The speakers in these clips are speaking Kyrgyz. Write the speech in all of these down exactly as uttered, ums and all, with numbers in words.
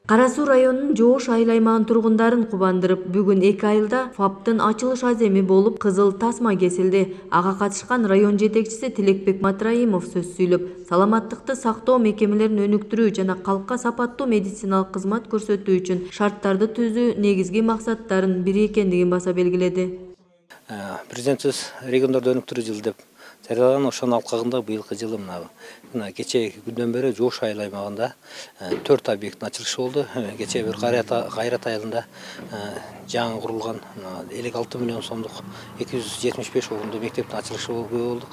Кара Суу районунун Жоош айыл аймагынын тургундарын кубандырып, бүгүн эки айылда ФАПтын ачылыш аземи болуп, кызыл тасма кесилди. Ага катышкан район жетекчиси Тилекбек Матраимов сөз сүйлөп, саламаттыкты сактоо мекемелерин өнүктүрүү жана калкка сапаттуу медициналык кызмат көрсөтүү үчүн шарттарды түзүү негизги максаттардын бири экендигин баса белгиледи. Президентибиз региондорду өнүктүрүү жылы деп жарыялаган, ошонун алкагында быйылкы жылы мына кечээ күндөн бери Жоош айыл аймагында төрт объекттин ачылышы болду. Кечээ бир Кайрат айылында жаңы курулган элүү алты миллион сомдук эки жүз жетимиш беш орундуу мектептин ачылышы болдук.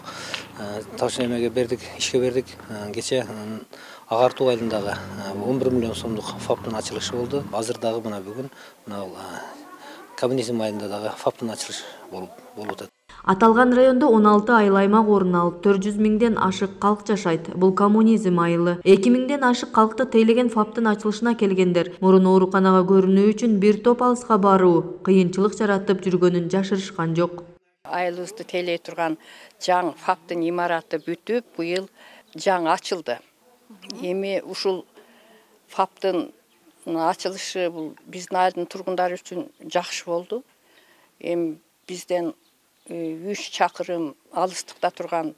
Ташын эмеге бердик, ишке бердик. Кечээ Ак Артуу айылындагы он бир миллион сомдук ФАПтын ачылышы болду. Азыр дагы мына бүгүн мына Коммунизм айылында дагы ФАПтын ачылышы болуп атат. Аталган райондо он алты айыл аймак орун алып, төрт жүз миңден ашык калк жашайт. Бул Коммунизм айылы. эки миңден ашык калкты тейлеген ФАПтын ачылышына келгендер мурун ооруканага көрүнүү үчүн бир топ алыска баруу кыйынчылык жаратып жүргөнүн жашырышкан жок. Айылыбызды тейлей турган жаңы ФАПтын имараты бүтүп, быйыл жаңы ачылды. Эми ушул ФАПтын ачылышы бул биздин айылдын тургундары үчүн жакшы болду. Эми бизден үч чакырым алыстыкта турган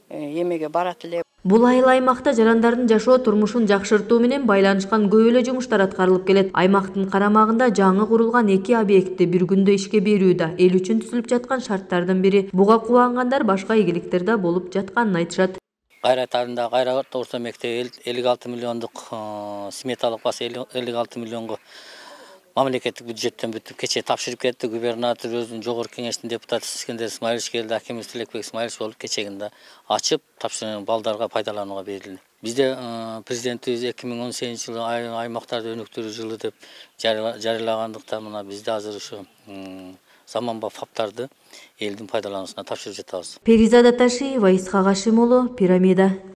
эмеге барат эле. Бул айыл аймакта жарандардын жашоо турмушун жакшыртуу менен байланышкан көп эле жумуштар аткарылып келет. Аймактын карамагында жаңы курулган эки объектти бир күндө ишке берүү да эл үчүн түзүлүп жаткан шарттардын бири. Буга кубангандар башка ийгиликтер да болуп жатканын айтышат. Кайрат айылында Кайрат орто мектеби элүү алты миллиондук сметалык баса элүү алты миллионго мамлекеттик бюджеттен бүтүп кечээ тапшырып кетти. Губернатор өзүнүн жогорку кеңештин депутаты Искендер Исмаилович келди, акимибиз Тилекбек Исмаилович болуп кечегинде ачып, тапшырган балдарга пайдаланууга берилди. Бизде президентибиз эки миң он сегизинчи жылы аймактарды өнүктүрүү жылы деп жарыялагандыктан мына бизде азыр ушу заманбап ФАПтарды элдин пайдалануусуна тапшырып жатабыз. Перизада Ташиева, Исхак Ашим уулу, Пирамида.